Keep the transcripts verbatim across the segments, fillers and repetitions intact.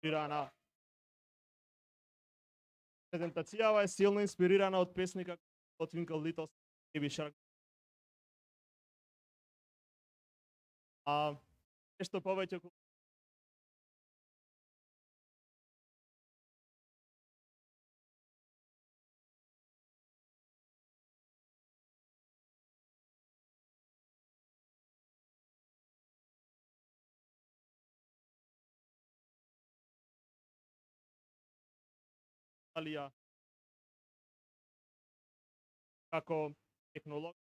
инспирирана. Презентацијава е силно инспирирана од песника од Twinkle Little Baby Shark. А нешто повеќе Алија како технолог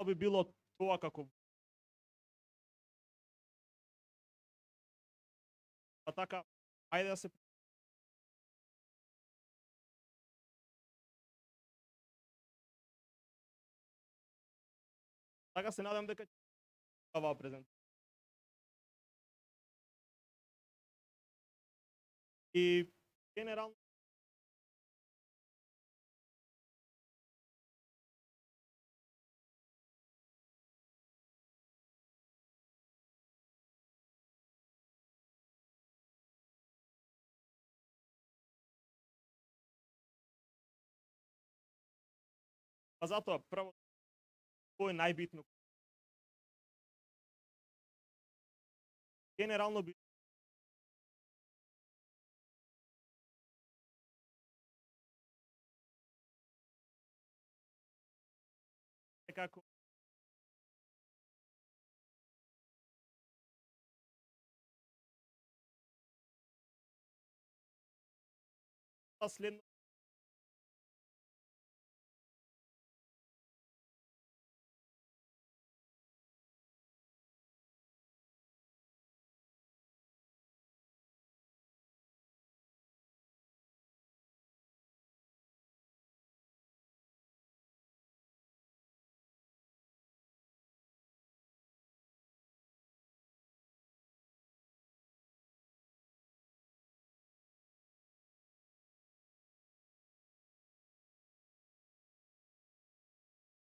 би било тоа како па така ајде да се така се надам дека оваа презентација и генерално па затоа прво тоа е најбитно. Генерално би како следно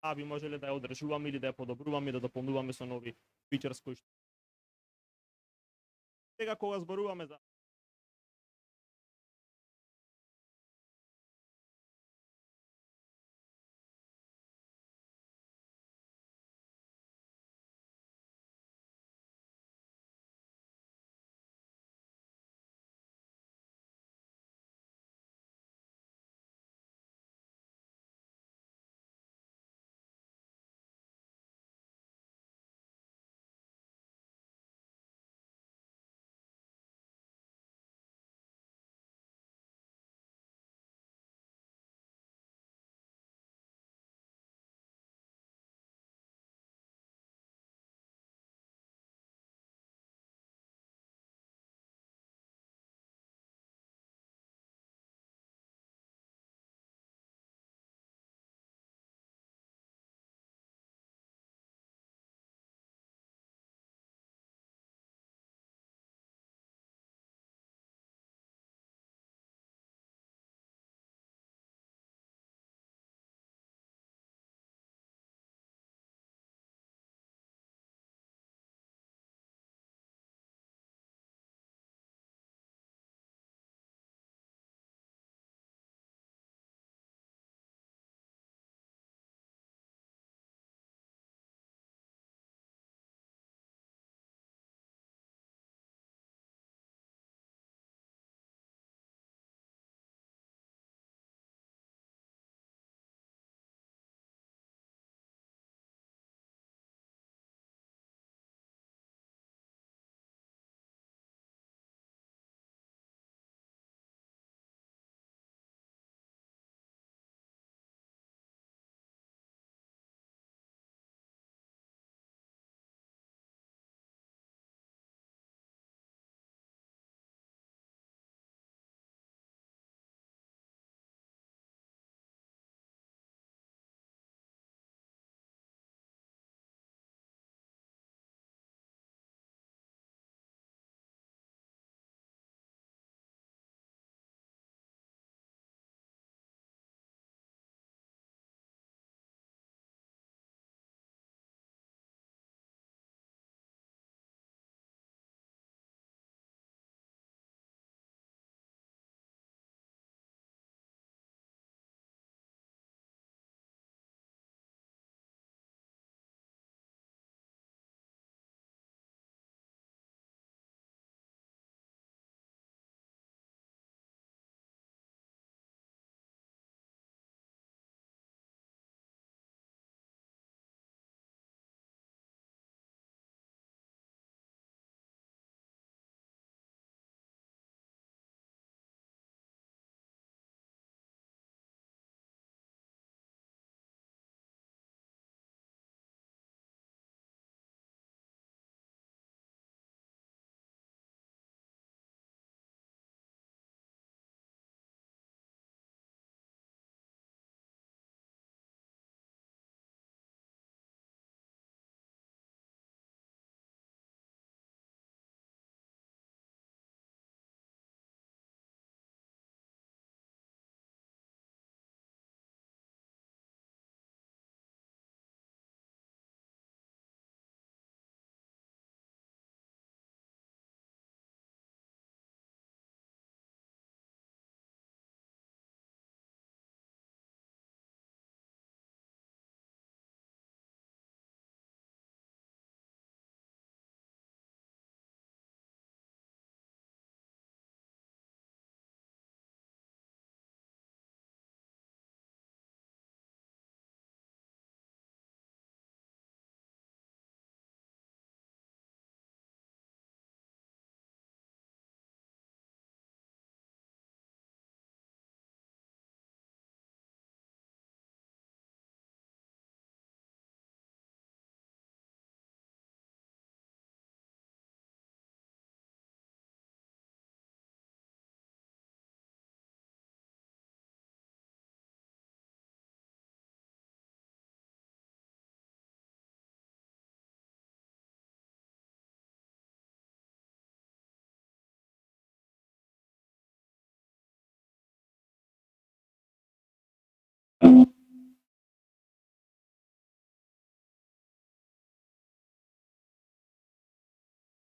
а би можеле да ја одржуваме или да ја подобруваме, да дополнуваме со нови фичерс кои што сега кога зборуваме за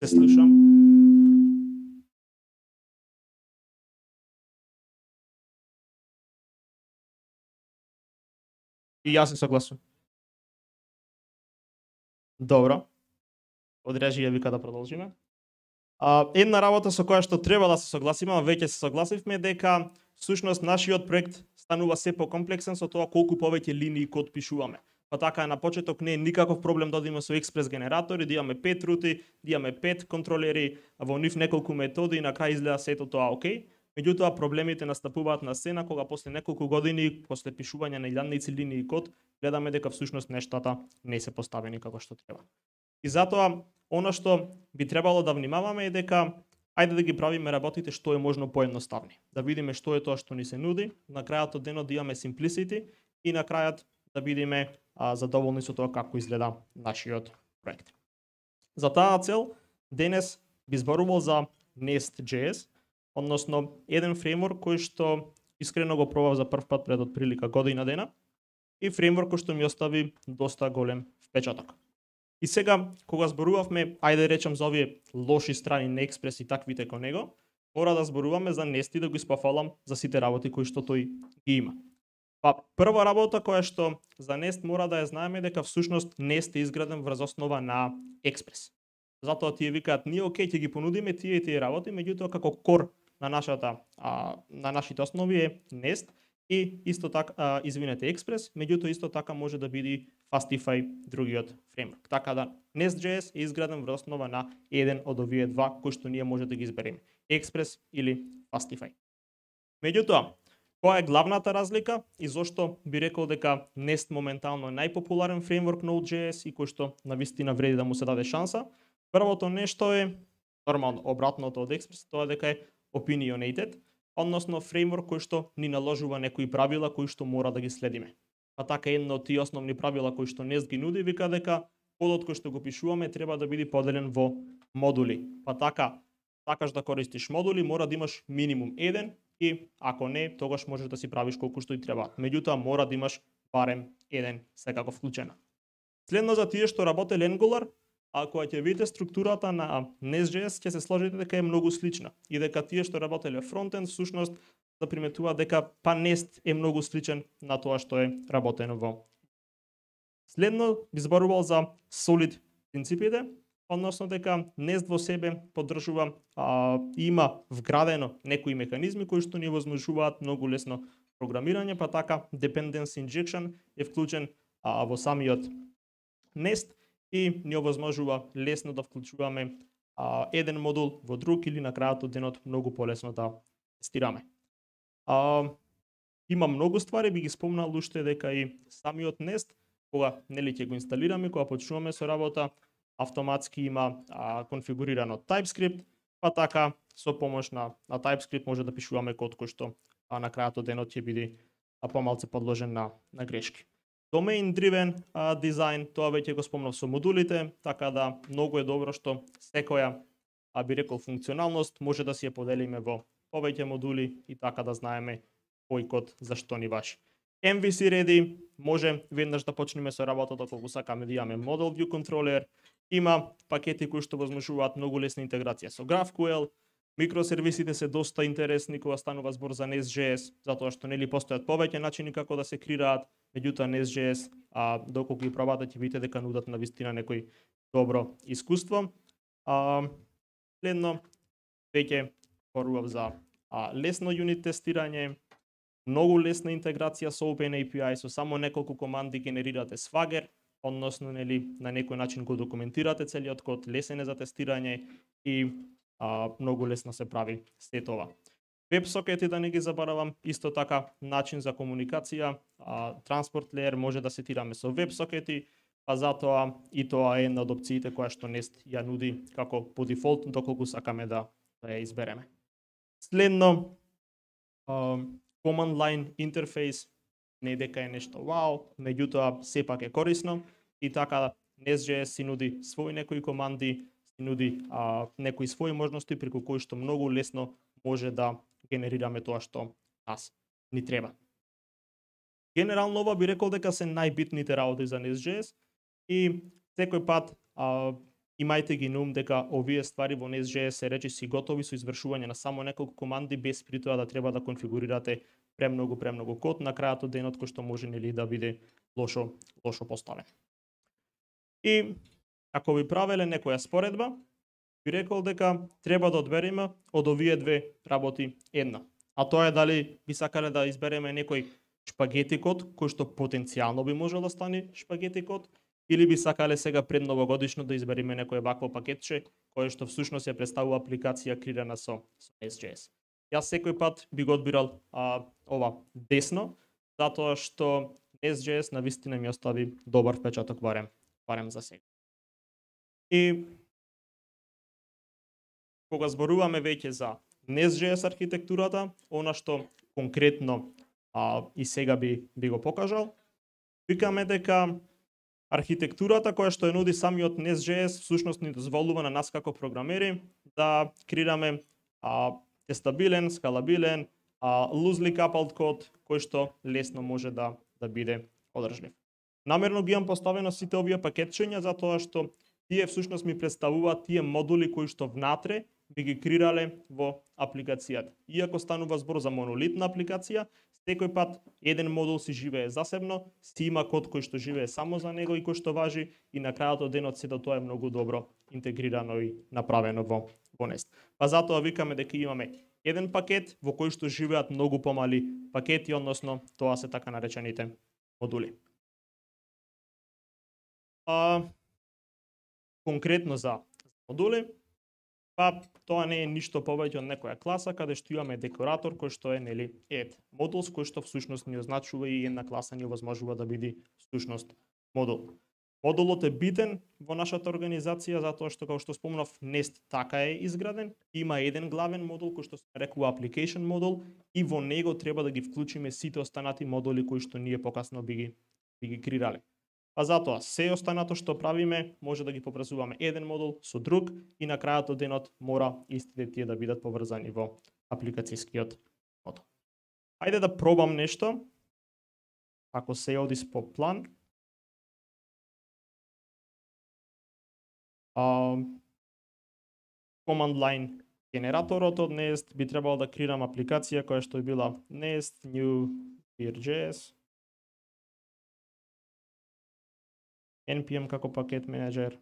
Се слушам. И јас се согласувам. Добро. Одрежи ја вика да продолжиме. А, една работа со која што треба да се согласиме, а веќе се согласивме дека всушност нашиот проект станува се покомплексен со тоа колку повеќе линии код пишуваме. Па така на почеток не е никаков проблем да одиме со експрес генератори, да имаме пет рути, да имаме пет контролери, во нив неколку методи и на крај изгледа сето тоа окей. Меѓутоа проблемите настапуваат на сцена кога после неколку години, после пишување на илјадници линии код, гледаме дека всушност нештата не се поставени како што треба. И затоа она што би требало да внимаваме е дека ајде да ги правиме работите што е можно поедноставни. Да видиме што е тоа што ни се нуди, на крајот од денот да имаме simplicity и на крајот да бидеме а, задоволни со тоа како изгледа нашиот проект. За таа цел денес би зборувал за Nest.js, односно еден фреймворк кој што искрено го пробав за прв пат пред отприлика година дена и фреймворк кој што ми остави доста голем впечаток. И сега, кога зборувавме, ајде речем за овие лоши страни на Експрес и таквите кон него, мора да зборуваме за Nest и да го испафалам за сите работи кои што тој ги има. Па прва работа која што за Nest мора да ја знаеме дека всушност Nest е изграден врз основа на Експрес. Затоа тие викаат ние окей ќе ги понудиме тие и тие работи, меѓутоа како кор на нашата а, на нашите основи е Nest и исто така а, извинете Експрес, меѓутоа исто така може да биде Fastify другиот фреймворк. Така да Nest.js е изграден врз основа на еден од овие два кои што ние може да ги избереме, Експрес или Fastify. Меѓутоа, која е главната разлика и зошто би рекол дека Nest моментално е најпопуларен фреймворк на Node.js и кој што навистина вреди да му се даде шанса? Првото нешто е нормално обратното од Експрес, тоа дека е opinionated, односно фреймворк кој што ни наложува некои правила кои што мора да ги следиме. Па така едно од тие основни правила кои што Nest ги нуди вика дека кодот кој што го пишуваме треба да биде поделен во модули. Па така, сакаш да користиш модули, мора да имаш минимум еден и ако не, тогаш можеш да си правиш колку што и треба. Меѓутоа мора да имаш барем еден секако вклучена. Следно за тие што работеле Angular, а кога ќе видите структурата на Nest.js, ќе се сложите дека е многу слична и дека тие што работеле фронтенд всушност да приметуваат дека па Nest е многу сличен на тоа што е работено во. Следно би зборувал за solid принципите, односно дека Nest во себе поддржува а, има вградено некои механизми кои што ни возможуваат многу лесно програмирање, па така dependency injection е вклучен а, во самиот Nest и ни овозможува лесно да вклучуваме а, еден модул во друг или на крајот од денот многу полесно да тестираме. А, има многу ствари, би ги спомнал уште дека и самиот Nest, кога нели ќе го инсталираме, кога почнуваме со работа, автоматски има а, конфигурирано TypeScript, па така со помош на, на TypeScript може да пишуваме код кој што а, на крајот од денот ќе биде а, помалку подложен на, на грешки. Domain driven а, дизајн, тоа веќе го спомнав со модулите, така да многу е добро што секоја а би рекол функционалност може да си ја поделиме во повеќе модули и така да знаеме кој код за што ни важи. Ем Ви Си ready, може веднаш да почнеме со работата кога сакаме да имаме Model View Controller, има пакети кои што возможуваат многу лесна интеграција со GraphQL, микросервисите се доста интересни кога станува збор за Nest.js, затоа што нели постојат повеќе начини како да се креираат, меѓутоа Nest.js, а доколку ги пробате ќе видите дека нудат на вистина некој добро искуство. А, следно веќе зборував за а, лесно юнит тестирање, многу лесна интеграција со OpenAPI, со само неколку команди генерирате Swagger, односно нели на некој начин го документирате целиот код, лесен е за тестирање и а, многу лесно се прави се тоа. WebSocket да не ги заборавам, исто така начин за комуникација, а, Transport Layer може да сетираме со WebSocket, па затоа и тоа е една од опциите која што Nest ја нуди како по дефолт, доколку сакаме да, да ја избереме. Следно, а, Command Line Interface, не дека е нешто вау, меѓутоа сепак е корисно и така Nest.js си нуди своји некои команди, си нуди а, некои своји можности преку кои што многу лесно може да генерираме тоа што нас ни треба. Генерално ова би рекол дека се најбитните работи за Nest.js и секој пат а, имајте ги на ум дека овие ствари во Nest.js се речиси готови со извршување на само неколку команди без при тоа да треба да конфигурирате премногу премногу код на крајот од денот кој што може нели да биде лошо лошо поставен. И ако ви правеле некоја споредба, би рекол дека треба да одбереме од овие две работи една. А тоа е дали би сакале да избереме некој шпагети код кој што потенцијално би можел да стане шпагети код, или би сакале сега пред новогодишно да избереме некој вакво пакетче кое што всушност ја представува апликација креирана со, со Nest.js. Јас секој пат би го одбирал а, ова десно, затоа што Nest.js навистина ми остави добар впечаток барем, барем за сега. И кога зборуваме веќе за Nest.js архитектурата, она што конкретно а, и сега би, би го покажал, викаме дека архитектурата која што ја нуди самиот Nest.js всушност ни дозволува на нас како програмери да креираме а, тестабилен, скалабилен, а, loosely coupled код кој што лесно може да да биде одржлив. Намерно ги имам поставено сите овие пакетчиња затоа што тие всушност ми представуваат тие модули кои што внатре би ги креирале во апликацијата. Иако станува збор за монолитна апликација, секој пат еден модул си живее засебно, си има код кој што живее само за него и кој што важи, и на крајот од денот сето тоа е многу добро интегрирано и направено во во Nest. Па затоа викаме дека имаме еден пакет во кој што живеат многу помали пакети, односно тоа се така наречените модули. А, конкретно за модули, па тоа не е ништо повеќе од некоја класа каде што имаме декоратор кој што е нели add modules кој што всушност ни означува и една класа ни овозможува да биде всушност модул. Модулот е битен во нашата организација затоа што, како што спомнав, Nest така е изграден, има еден главен модул кој што се нарекува application модул и во него треба да ги вклучиме сите останати модули кои што ние покасно би ги би ги креирале. А затоа се останато што правиме може да ги поврзуваме еден модул со друг и на крајот од денот мора истите тие да бидат поврзани во апликацијскиот модул. Ајде да пробам нешто. Ако се оди по план. Uh, command line генераторот од Nest би требало да креирам апликација која што е била Nest new vir.js npm како пакет менеджер.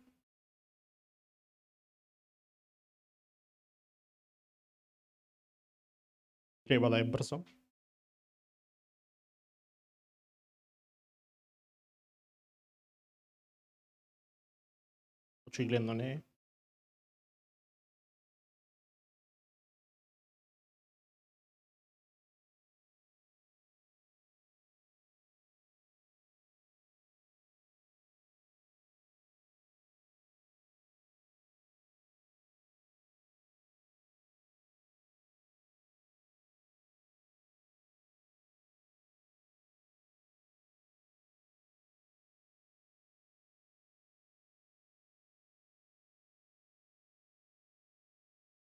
Треба да е брзо. Очигледно не е.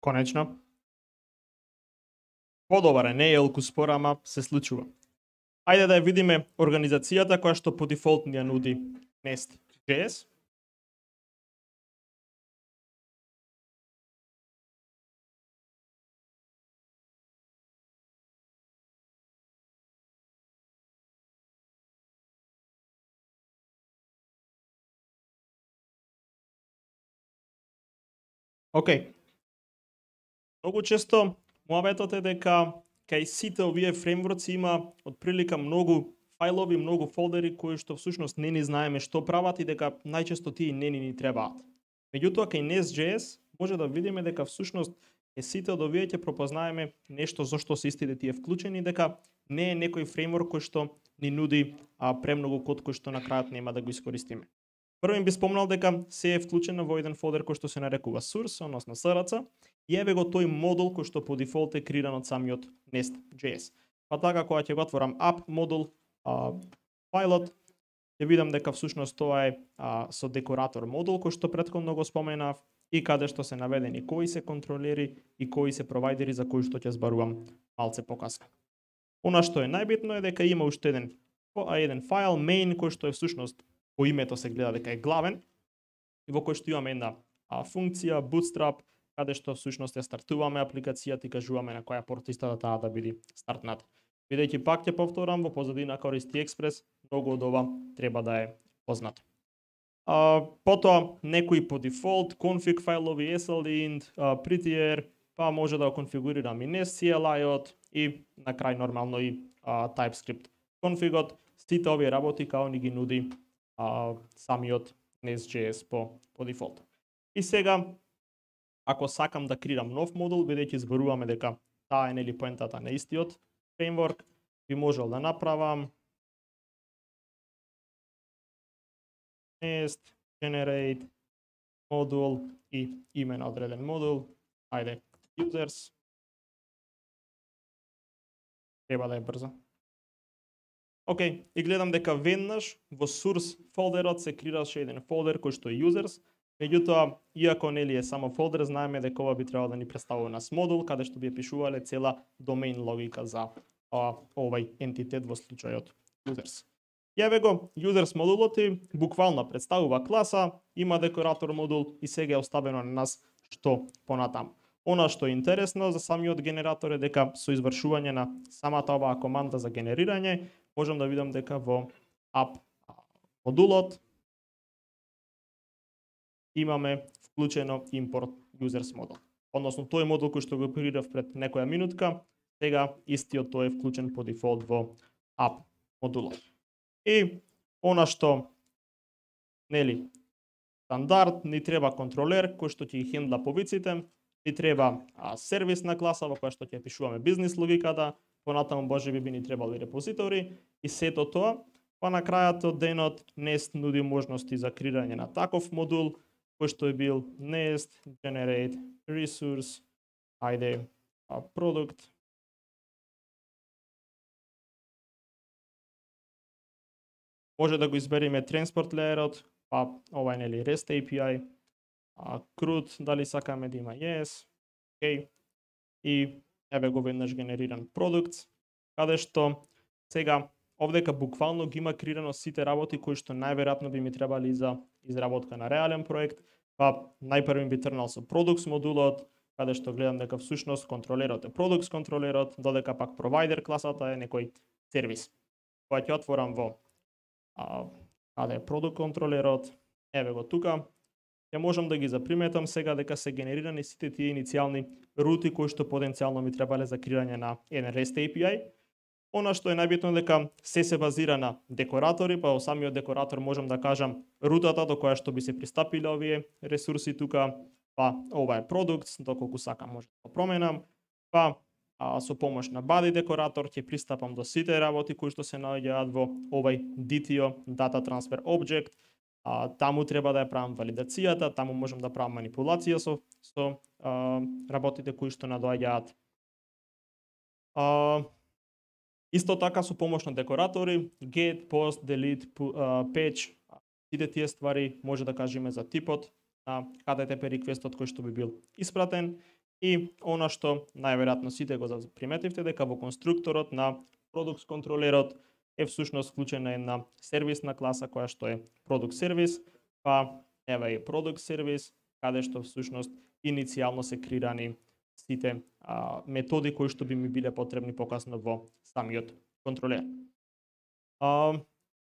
Конечно. Подобар е, не е елку спора, ама се случува. Ајде да ја видиме организацијата која што по дефолт ни ја нуди Nest.js. Океј. Okay. Многу често муабетот е дека кај сите овие фреймворци има отприлика многу фајлови, многу фолдери кои што всушност не ни знаеме што прават и дека најчесто тие не ни ни требаат. Меѓутоа кај Nest.js може да видиме дека всушност е сите од овие ќе пропознаеме нешто зашто се истите тие вклучени, дека не е некој фреймворк кој што ни нуди а, премногу код кој што на крајот нема да го искористиме. Првен би спомнал дека се е вклучено во еден фолдер кој што се нарекува source, односно S R C, и еве го тој модул кој што по дефолт е креиран од самиот Nest.js. Па така кога ќе го отворам app модул а, фајлот, ќе видам дека всушност тоа е а, со декоратор модул кој што претходно го споменав и каде што се наведени кои се контролери и кои се провајдери за кои што ќе збарувам малце покасно. Она што е најбитно е дека има уште еден еден фајл main кој што е всушност по името се гледа дека е главен и во кој што имаме една а, функција Bootstrap, каде што всушност ја стартуваме апликацијата и кажуваме на која порта истата таа да биде стартната. Бидејќи пак ќе повторам, во позадина користи Експрес, многу од ова треба да е познато. А, потоа некои по дефолт, config файлови, slint, а, prettier, па може да го конфигурирам и NestCLI-от и на крај нормално и а, TypeScript конфигот. Сите овие работи као ни ги нуди а, самиот Nest.js по, по дефолт. И сега, ако сакам да креирам нов модул, бидејќи зборуваме дека таа е нели поентата на истиот фреймворк, би можел да направам Nest, generate, модул и име на одреден модул. Ајде, users. Треба да е брзо. Океј, и гледам дека веднаш во source фолдерот се креираше еден фолдер кој што е users. Меѓутоа, иако нели е само фолдер, знаеме дека ова би требало да ни представува нас модул, каде што би пишувале цела домен логика за а, овај ентитет во случајот users. Јаве го users модулот и буквално представува класа, има декоратор модул и сега е оставено на нас што понатаму. Она што е интересно за самиот генератор е дека со извршување на самата оваа команда за генерирање, можам да видам дека во app модулот имаме вклучено import users модул. Односно тој модул кој што го оперирав пред некоја минутка, сега истиот тој е вклучен по дефолт во app модулот. И она што нели стандард ни треба контролер кој што ќе ги хендла повиците, ни треба а, сервисна класа во која што ќе пишуваме бизнис логиката, понатаму можеби би ни требали репозитори и сето тоа, па на крајот од денот Nest нуди можности за креирање на таков модул кој што е бил Nest generate resource, ајде а, product. Може да го избереме transport layer-от, па ова е нели REST A P I, а, CRUD, дали сакаме да има yes, окей, и еве го веднаш генериран продукт, каде што сега овдека буквално ги има креирано сите работи кои што најверојатно би ми требали за изработка на реален проект, па најпрви би трнал со products модулот, каде што гледам дека всушност контролерот е products контролерот, додека пак provider класата е некој сервис. Кога ќе отворам во а, каде е product контролерот, еве го тука, ја можам да ги заприметам сега дека се генерирани сите тие иницијални рути кои што потенцијално ми требале за креирање на еден REST A P I. Она што е најбитно дека се се базира на декоратори, па во самиот декоратор можам да кажам рутата до која што би се пристапиле овие ресурси тука, па ова е продукт, доколку сакам може да го променам, па а, со помош на body декоратор ќе пристапам до сите работи кои што се наоѓаат во овај D T O, Data Transfer Object. А, таму треба да ја правам валидацијата, таму можам да правам манипулација со, со а, работите кои што надоаѓаат. А, исто така со помош на декоратори, get, post, delete, patch, сите тие ствари може да кажеме за типот на H T T P реквестот кој што би бил испратен и она што најверојатно сите го заприметивте дека во конструкторот на products контролерот е всушност вклучена една сервисна класа која што е product service, па еве е product service, каде што всушност иницијално се креирани сите а, методи кои што би ми биле потребни покасно во самиот контролер. А,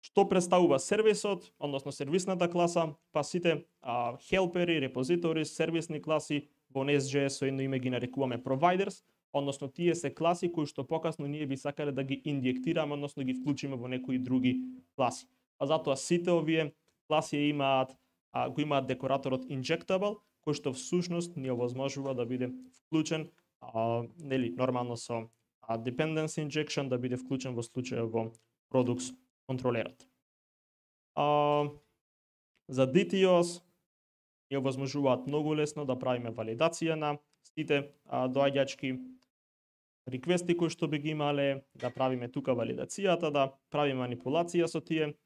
што представува сервисот, односно сервисната класа, па сите а, хелпери, репозитори, сервисни класи во Nest.js со едно име ги нарекуваме providers, односно тие се класи кои што покасно ние би сакале да ги инјектираме, односно ги вклучиме во некои други класи. А затоа сите овие класи имаат а, го имаат декораторот injectable, кој што всушност ни овозможува да биде вклучен а, нели нормално со а, dependency injection да биде вклучен во случајот во products контролерот. А, за D T Os ни овозможуваат многу лесно да правиме валидација на сите а, доаѓачки реквести кои што би ги имале, да правиме тука валидацијата, да правиме манипулација со тие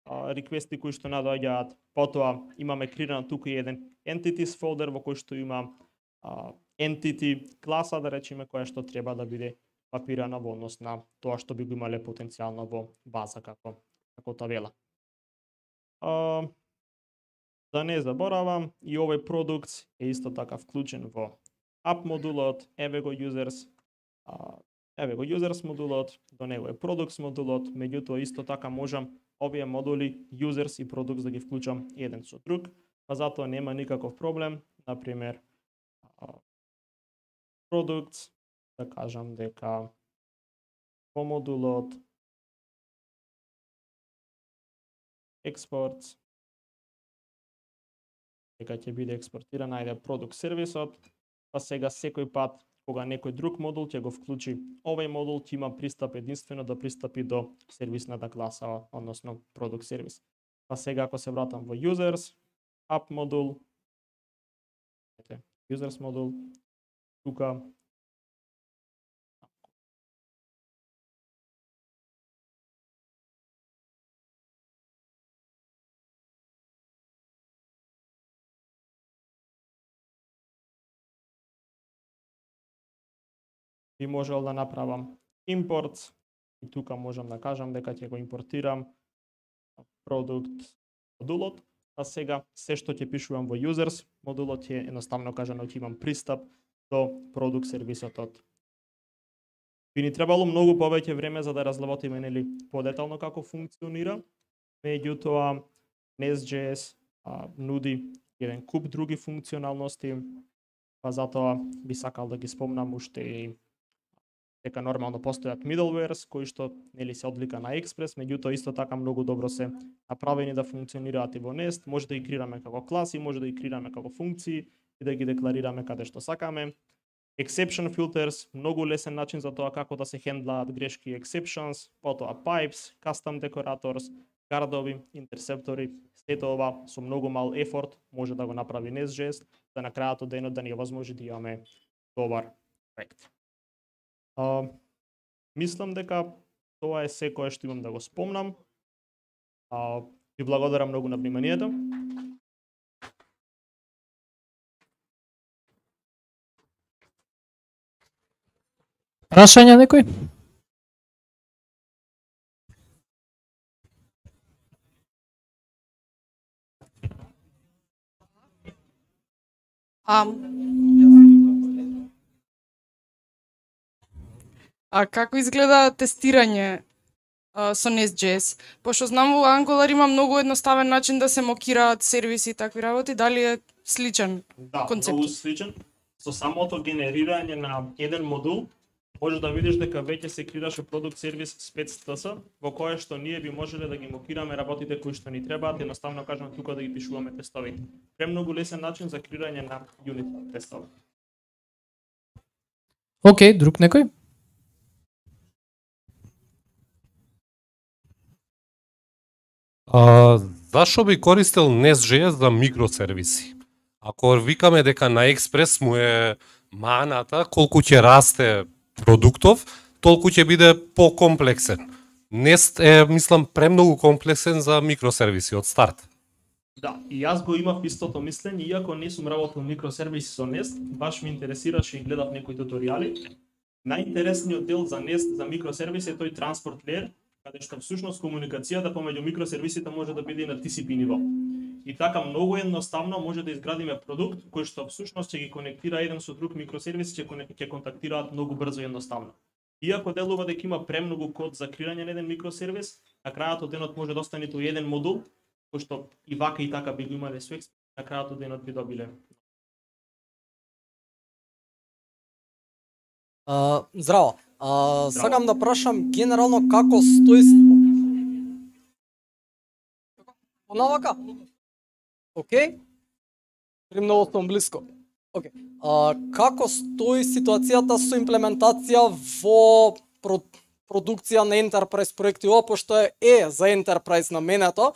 а, реквести кои што надоаѓаат. Потоа имаме креиран тука и еден entities folder во кој што има а, entity класа, да речеме, која што треба да биде папирана во однос на тоа што би го имале потенцијално во база како како табела. А, Да не заборавам, и овој продукт е исто така вклучен во app модулот, еве го users, а, еве го users модулот, до него е products модулот, меѓутоа исто така можам овие модули users и products да ги вклучам еден со друг, па затоа нема никаков проблем, например products, да кажам дека во модулот exports дека ќе биде експортиран најде продукт сервисот, па сега секој пат кога некој друг модул ќе го вклучи овој модул, ќе има пристап единствено да пристапи до сервисната класа, односно продукт сервис. Па сега ако се вратам во users, app модул, users модул, тука би можел да направам импорт и тука можам да кажам дека ќе го импортирам продукт модулот, а сега се што ќе пишувам во users модулот е едноставно кажано ќе имам пристап до продукт сервисот. Би ни требало многу повеќе време за да разработиме нели подетално како функционира, меѓутоа Nest.js а, нуди еден куп други функционалности, па затоа би сакал да ги спомнам уште и дека нормално постојат middlewares кои што нели се одлика на Express, меѓутоа исто така многу добро се направени да функционираат и во Nest, може да ги креираме како класи, може да ги креираме како функции и да ги декларираме каде што сакаме. Exception filters, многу лесен начин за тоа како да се хендлаат грешки и exceptions, потоа pipes, custom decorators, гардови, интерсептори, сето ова со многу мал ефорт може да го направи Nest.js, да на крајот од денот да ни овозможи да имаме добар проект. Uh, мислам дека тоа е се кое што имам да го спомнам. Uh, ви благодарам многу на вниманието. Прашања некој? А, а како изгледа тестирање а, со Nest.js? Пошто знам во Angular има многу едноставен начин да се мокираат сервиси и такви работи, дали е сличен Да, концепт? многу сличен. Со самото генерирање на еден модул, може да видиш дека веќе се креираше продукт сервис spec.ts, во кое што ние би можеле да ги мокираме работите кои што ни требаат, едноставно кажам тука да ги пишуваме тестовите. Премногу лесен начин за креирање на юнит тестови. Океј, друг некој? А, зашо би користел Nest.js за микросервиси? Ако викаме дека на Express му е маната, колку ќе расте продуктов, толку ќе биде покомплексен. Nest е, мислам, премногу комплексен за микросервиси од старт. Да, и јас го имав истото мислење, иако не сум работел микросервиси со Nest, баш ми интересираше и гледав некои туторијали. Најинтересниот дел за Nest за микросервиси е тој транспорт леер, каде што всушност комуникацијата помеѓу микросервисите може да биде на T C P ниво. И така многу едноставно може да изградиме продукт кој што всушност ќе ги конектира еден со друг микросервис, ќе ќе контактираат многу брзо и едноставно. Иако делува дека има премногу код за креирање на еден микросервис, на крајот од денот може да остане тоа еден модул, кој што и вака и така би го имале со Express, на крајот од денот би добиле. А, здраво. А, сакам да прашам генерално како стои... Понавака? Океј? Премногу сум блиско. Океј. А, како стои ситуацијата со имплементација во про, продукција на Enterprise проекти, пошто е, е за Enterprise наменето,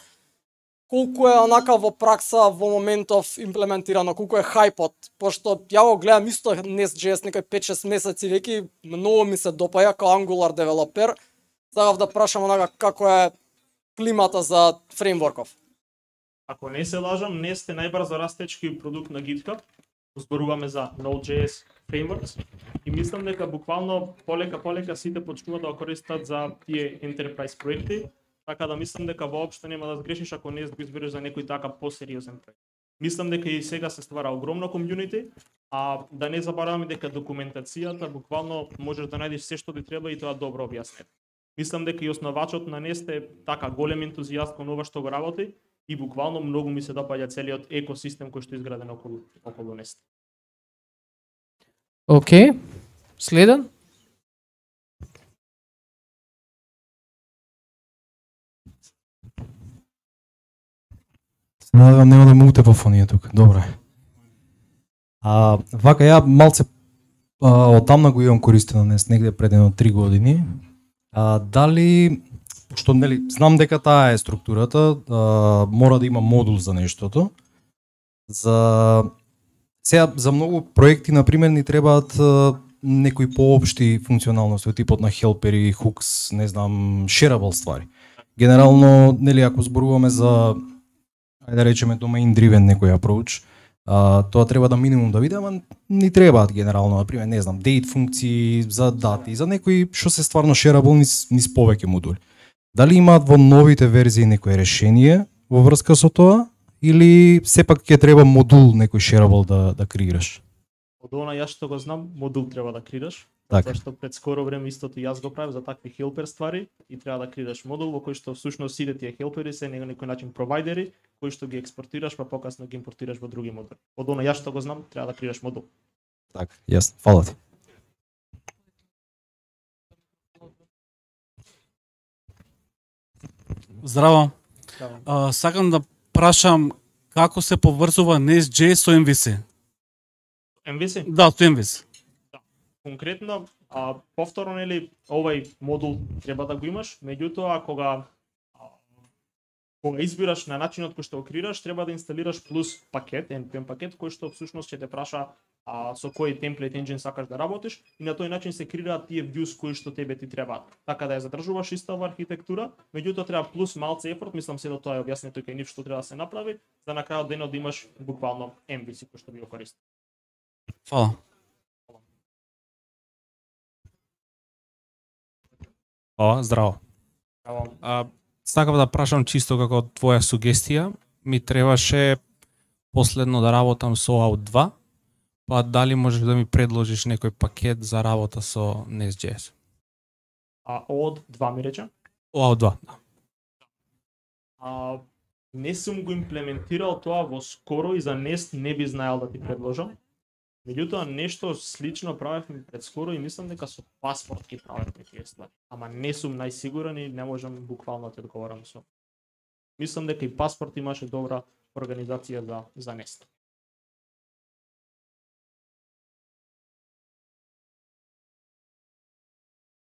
колку е онака во пракса во моментов имплементирано, колку е хајпот, пошто ја го гледам исто Nest.js некој пет-шест месеци веќе, многу ми се допаја како Angular девелопер. Сакав да прашам онака како е климата за фреймворков. Ако не се лажам, Nest е најбрзо растечки продукт на GitHub. Зборуваме за Node.js frameworks и мислам дека буквално полека полека сите почнуваат да го користат за тие enterprise проекти, така да мислам дека воопшто нема да сгрешиш ако Nest го избереш за некој така посериозен проект. Мислам дека и сега се ствара огромно комјунити, а да не забораваме дека документацијата буквално можеш да најдеш се што ти треба и тоа добро објаснет. Мислам дека и основачот на Nest е така голем ентузијаст кон ова што го работи и буквално многу ми се допаѓа целиот екосистем кој што е изграден околу околу Nest. Океј. Okay. Следен? Надевам нема да му утепа фонија тук. Добро е. А, вака ја малце а, одамна го имам користено Nest, негде пред едно три години. А, дали, што нели, знам дека таа е структурата, а, мора да има модул за нештото. За сега за многу проекти на пример ни требаат а, некои поопшти функционалности, типот на хелпери, хукс, не знам, shareable ствари. Генерално, нели, ако зборуваме за ајде да речеме domain driven некој approach, а, тоа треба да минимум да биде, ама ни требаат генерално, например, не знам, date функции за дати, за некои што се стварно shareable низ, низ повеќе модули. Дали имаат во новите верзии некое решение во врска со тоа, или сепак ќе треба модул некој shareable да, да креираш? Од она јас што го знам, модул треба да креираш. Така. Зашто пред скоро време истото јас го правев за такви хелпер ствари и треба да креираш модул во кој што всушност сите тие хелпери се на некој начин провайдери кои што ги експортираш па покасно ги импортираш во други модули. Од она јас што го знам, треба да креираш модул. Така, јасно. Фала ти. Здраво. Здраво. А, сакам да прашам како се поврзува Nest.js со ем ви си? ем ви си? Да, со ем ви си. Конкретно, а, повторно нели овај модул треба да го имаш, меѓутоа кога а, кога избираш на начинот кој што го креираш, треба да инсталираш плюс пакет, ен пи ем пакет кој што всушност ќе те праша а, со кој template engine сакаш да работиш и на тој начин се креираат тие views кои што тебе ти требаат. Така да ја задржуваш иста ова архитектура, меѓутоа треба плюс малце ефорт, мислам се да тоа е објаснето кај нив што треба да се направи, за на крајот денот да имаш буквално ем ви си кој што би го користи. Фала. О, здраво. А, сакав да прашам чисто како твоја сугестија, ми требаше последно да работам со о аут два, па дали можеш да ми предложиш некој пакет за работа со Nest.js? А од два ми рече? о аут два, да. А, не сум го имплементирал тоа во скоро и за Nest не би знаел да ти предложам. Меѓутоа нешто слично правевме пред скоро и мислам дека со паспорт ги правевме тие ствари. Ама не сум најсигурен и не можам буквално да ти одговорам со. Мислам дека и паспорт имаше добра организација за за Nest.